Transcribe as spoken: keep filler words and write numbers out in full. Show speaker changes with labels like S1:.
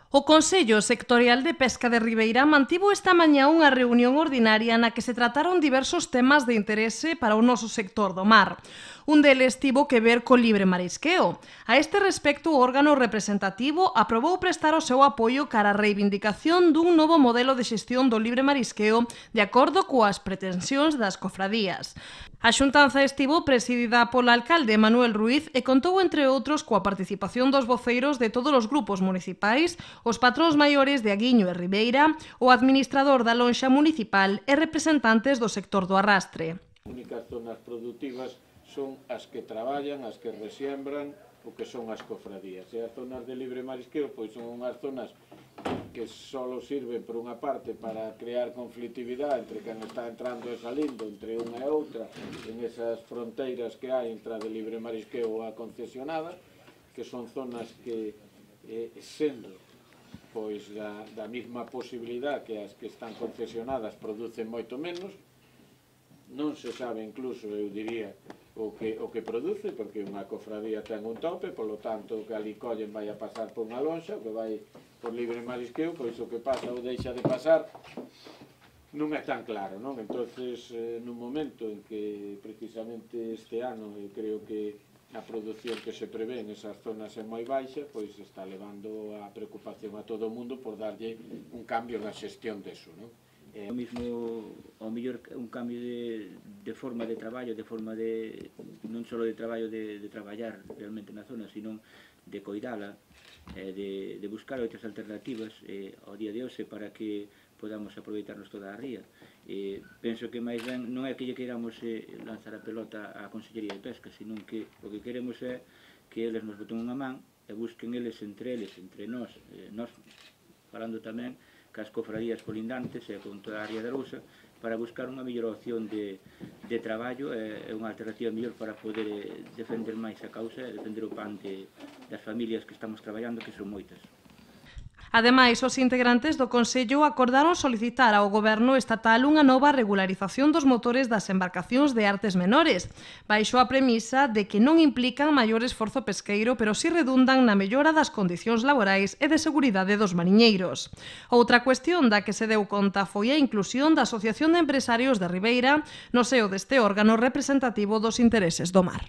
S1: O Consello Sectorial de Pesca de Ribeira mantivo esta mañá unha reunión ordinaria na que se trataron diversos temas de interese para o noso sector do mar. Un deles tivo que ver co libre marisqueo. A este respecto, o órgano representativo aprobou prestar o seu apoio cara a reivindicación dun novo modelo de xestión do libre marisqueo de acordo coas pretensións das cofradías. A xuntanza estivo presidida pola alcalde Manuel Ruiz e contou, entre outros, coa participación dos voceiros de todos os grupos municipais, os patróns maiores de Aguiño e Ribeira, o administrador da lonxa municipal e representantes do sector do arrastre.
S2: As únicas zonas productivas son as que traballan, as que resiembran, o que son as cofradías. E as zonas de libre marisqueo pois son unhas zonas que só sirven por unha parte para crear conflitividade entre quen está entrando e salindo entre unha e outra en esas fronteiras que hai entre a de libre marisqueo e a concesionada, que son zonas que, eh, sendo pois da, da mesma posibilidade que as que están concesionadas producen moito menos, non se sabe incluso, eu diría, o que, o que produce, porque unha cofradía ten un tope, polo tanto o que ali collen vai a pasar por unha lonxa, o que vai por libre marisqueo, pois o que pasa ou deixa de pasar non é tan claro, non? Entonces, eh, nun momento en que precisamente este ano eu creo que a produción que se prevé en esas zonas é moi baixa, pois está levando a preocupación a todo o mundo por darlle un cambio na xestión deso, non?
S3: É o mismo, ao mellor, un cambio de, de forma de traballo, de forma de, non só de traballo de, de traballar realmente na zona, sino de coidala, eh, de, de buscar outras alternativas eh, ao día de hoxe para que podamos aproveitarnos toda a ría. Eh, penso que máis ben non é que lle queiramos eh, lanzar a pelota á Consellería de Pesca, sino que o que queremos é que eles nos boten unha man e busquen eles entre eles, entre nós, eh, nós falando tamén cas cofradías colindantes e con toda a área da Lousa, para buscar unha mellor opción de, de traballo e unha alternativa mellor para poder eh, defender máis a causa e defender o pan de, das familias que estamos traballando, que son moitas.
S1: Ademais, os integrantes do Consello acordaron solicitar ao Goberno estatal unha nova regularización dos motores das embarcacións de artes menores, baixo a premisa de que non implican maior esforzo pesqueiro, pero si redundan na mellora das condicións laborais e de seguridade dos mariñeiros. Outra cuestión da que se deu conta foi a inclusión da Asociación de Empresarios de Ribeira no seo deste órgano representativo dos intereses do mar.